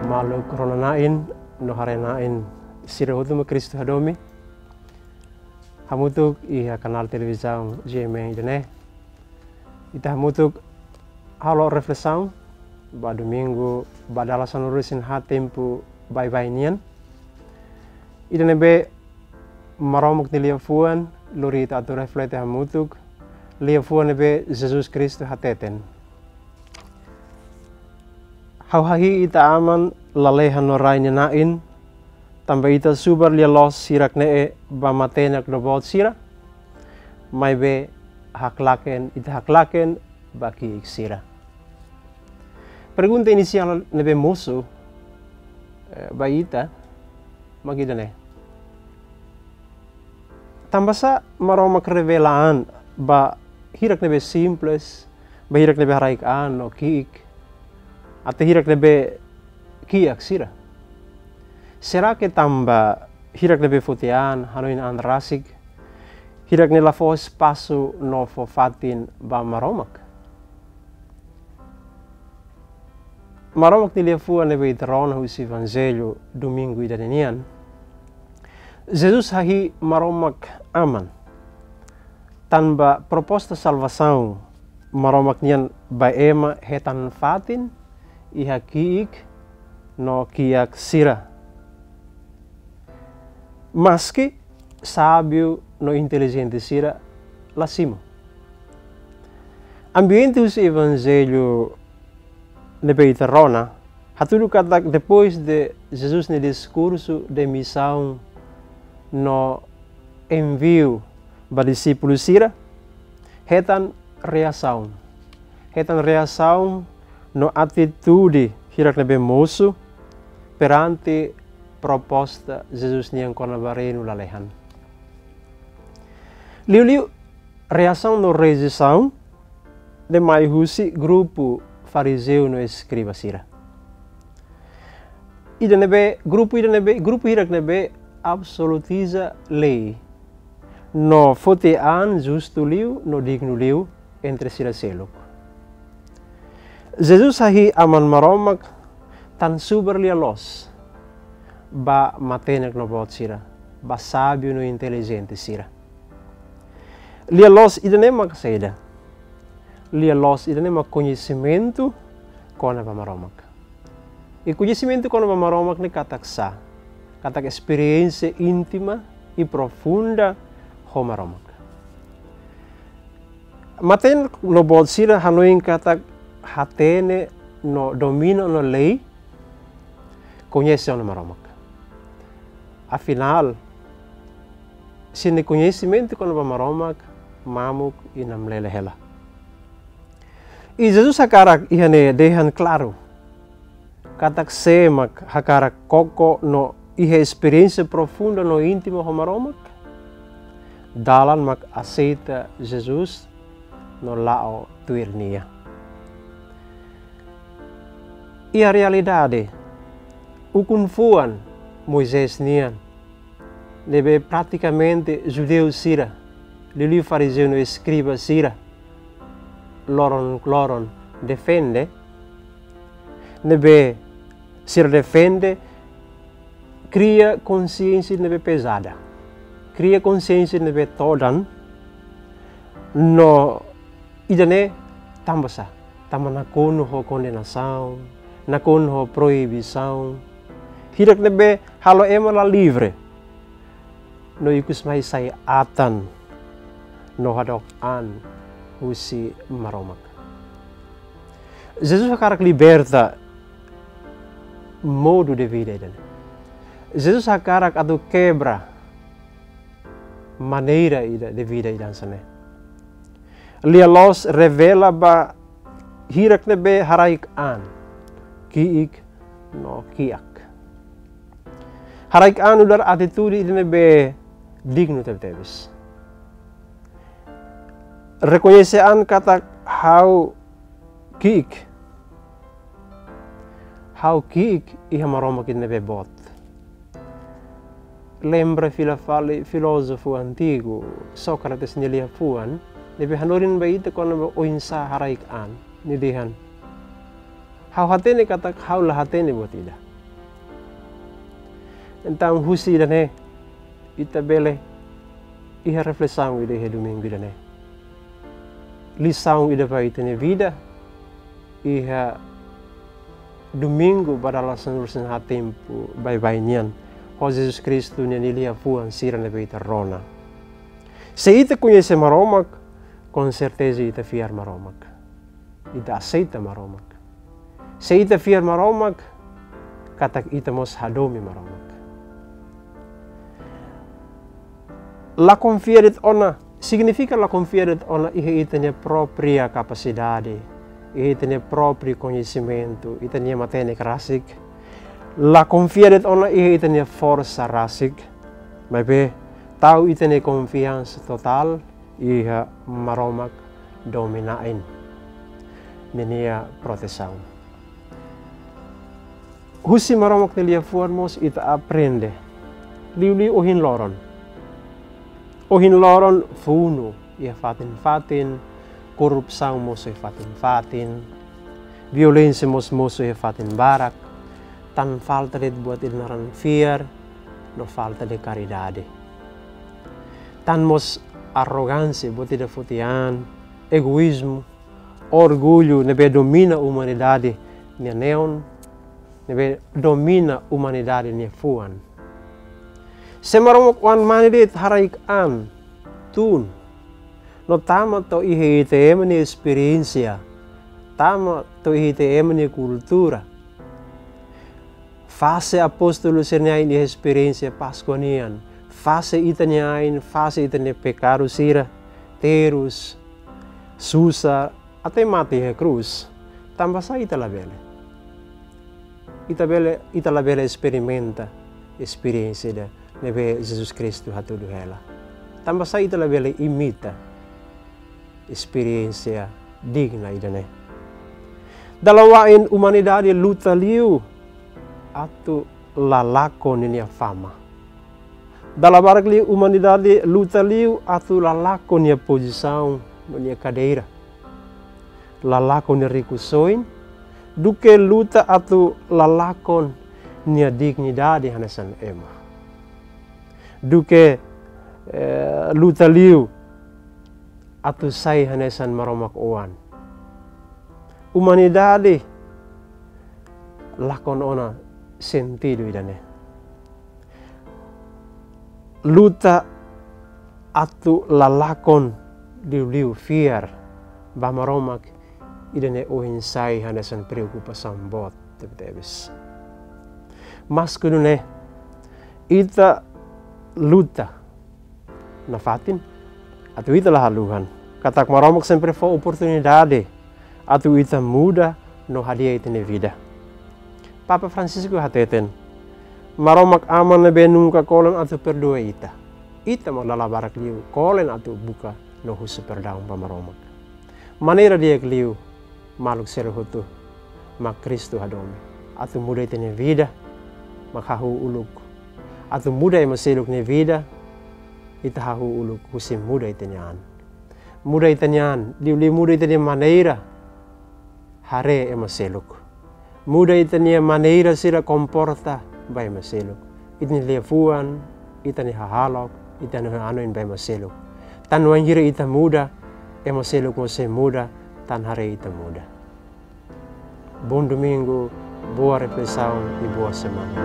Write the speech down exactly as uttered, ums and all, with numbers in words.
Maluk rona-na'in no haree-na'in sira hotu mak Kristu hadomi. Hamutuk iha kanál televizaun G M N ida-ne'e. Ita hamutuk halo reflesaun ba domingu ba dala sanulu-resin-haat tempu baibain nian. Ida ne'ebé Maromak nia liafuan lori ita atu reflete hamutuk, liafuan ne'ebé Jesus Kristu hateten. Ha'u hahi'i ita aman lalehan no rai nia na'in, tanba ita subar lia-loos hirak-ne'e ba matenek no boot sira, maibé haklaken, ita haklaken ba ki'ik sira. Pergunta inisiál ne'ebé mosu, eh, ba ita mak ida-ne'e. Tanbasá Maromak revela an ba hirak ne'ebé simples, ba hirak ne'ebé haraik an no ki'ik, até hirak ne'ebé kiak sira? Será que tanba hirak ne'ebé foti an, hanoin an rasik, hirak ne'e la fó espasu no fó fatin ba Maromak? Maromak nia liafuan ne'ebé ita rona husi Evanjellu domingu ida-ne'e nian. Jesus hahi'i Maromak Aman. Tanba proposta salvasaun Maromak nian ba ema hetan fatin iha ki'ik no kiak sira. Maski sábiu no intelijente sira la simu. Ambiente husi Evanjellu ne'ebé ita rona hatudu katak depois de Jesus nia diskursu de misaun no enviu ba dixípulu sira, hetan reasaun. Hetan reasaun no atitude hirak ne'ebé mosu perante proposta Jesus nian kona-ba reinu lalehan. Liuliu reasaun no rejeisaun ne'e mai husi grupu farizeu no eskriba sira. Ida ne'ebé, grupu ida ne'ebé, grupu hirak ne'ebé absolutiza lei no foti an justu liu no dignu liu entre sira seluk. Jesus hahi'i Aman Maromak tan subar lia-loos ba matenek no boot sira, ba sábiu no intelijente sira. Lia-loos ida-ne'e mak saida? Lia-loos ida-ne'e mak koñesimentu kona-ba Maromak. I koñesimentu kona-ba Maromak ne'e katak sá? Katak esperiénsia íntima i profunda ho Maromak. Matenek no boot sira hanoin katak hatene no domina ona lei, koñese ona Maromak. Afinál, sira-nia koñesimentu kona-ba Maromak mamuk i namlele hela. I Jesus hakarak iha ne'e dehan klaru katak sé mak hakarak koko no iha esperiénsia profunda no íntima ho Maromak, dalan mak aseita Jesus no la'o tuir Nia. Iha realidade, ukun-fuan Moisés nian, ne'ebé pratikamente judeu sira, liuliu farizeu no eskriba sira, loron-loron defende, ne'ebé sira defende, kria konsiénsia ne'ebé pezada, kria konsiénsia ne'ebé todan, no ida-ne'e tanbasá? Tanba nakonu ho kondenasaun, nakonu ho proibisaun. Hirak ne'ebé halo ema la livre. No ikus mai sai atan no hadook an husi Maromak. Jesus hakarak liberta modu de vida ida-ne'e. Jesus hakarak atu kebra maneira ida de vida ida hanesan ne'e. Lia-loos revela ba hirak ne'ebé haraik an, ki'ik no kiak. Haraik an nu'udar atitude ida ne'ebé dignu tebetebes. Rekoñese an katak ha'u ki'ik. Ha'u ki'ik iha Maromak ida ne'ebé boot. Lembra fila fali filózofu antigu, Sócrates nia liafuan, ne'ebé hanorin ba ita kona-ba oinsá haraik an, nia dehan: Ha'u hatene katak ha'u la hatene buat ida. Entaun husi ida-ne'e ita bele iha reflesaun ida iha domingu ida-ne'e. Lisaun ida ba ita-nia vida iha domingu ba dala sanulu-resin-haat tempu baibain nian, ho Jesus Kristu nia liafuan sira ne'ebé ita rona. Se ita koñese Maromak, konserteza ita fiar Maromak. Ita aseita Maromak. Se ita fiar Maromak, katak ita mós hadomi Maromak. La konfia de'it ona, signifika la konfia de'it ona iha ita-nia própria kapasidade, iha ita-nia própriu koñesimentu, ita-nia matenek rasik. La konfia de'it ona iha ita-nia forsa rasik. Maibé, tau ita-nia konfiansa totál iha Maromak domin-na'in ninia protesaun. Husi Maromak nia liafuan mós ita aprende. Liuliu ohin loron. Ohin loron funu iha fatin-fatin, korrupsaun mosu iha fatin-fatin, violénsia mós mosu iha fatin barak, tan falta de'it buat ida naran fiar, no falta de karidade. Tan mós arrogánsia, buat ida foti an, egoízmu, orgullu ne'ebé domina umanidade nia neon, ne'ebé domina umanidade nia fuan. Se Maromak oan mane de'it haraik an, tun, no tama to'o iha ita ema nia esperiénsia, tama to'o iha ita ema nia kultura. Fase apóstolu sira-nia ain iha esperiénsia Páskua nian. Fase ita-nia ain, fase ita-nia pekadu sira, terus, susar, até mate iha krús. Tanbasá ita labele? Ita bele, ita labele esperimenta esperiénsia ida ne'ebé Jesus Kristu hatudu hela. Tanbasá ita labele imita esperiénsia digna ida-ne'e? Dala barak umanidade luta liu atu la lakon ninia fama. Dala barak liu umanidade luta liu atu la lakon nia pozisaun no nia kadeira. La lakon nia rikusoin, duké luta atu la lakon nia dignidade hanesan ema. Duké, eh, luta liu atu sai hanesan Maromak oan. Umanidade lakon ona sentidu ida-ne'e. Luta atu la lakon liuliu fiar ba Maromak, ida-ne'e ohin sai hanesan preokupasaun boot tebetebes. Maske nune'e, ita luta nafatin atu ita la haluhan katak Maromak sempre fó oportunidade atu ita muda no hadi'a ita-nia vida. Papa Francisco hateten, Maromak Aman ne'ebé nunka kolen atu perdua ita. Ita mak dala barak liu kolen atu buka no husu perdaun ba Maromak. Maneira di'ak liu maluk seluk hotu mak Kristu hadomi atu muda ita-nia vida, mak hahú uluk atu muda ema seluk nia vida, ita hahú uluk husi muda ita-nia an. Muda ita-nia an, liuliu muda ita-nia maneira haree ema seluk. Muda ita-nia maneira sira komporta ba ema seluk. Ita-nia liafuan, ita-nia hahalok, ita-nia hanoin ba ema seluk. Tan wainhira ita muda, ema seluk mós sei muda, tan haree ita muda. Bom domingo, boa reflexão e boa semana.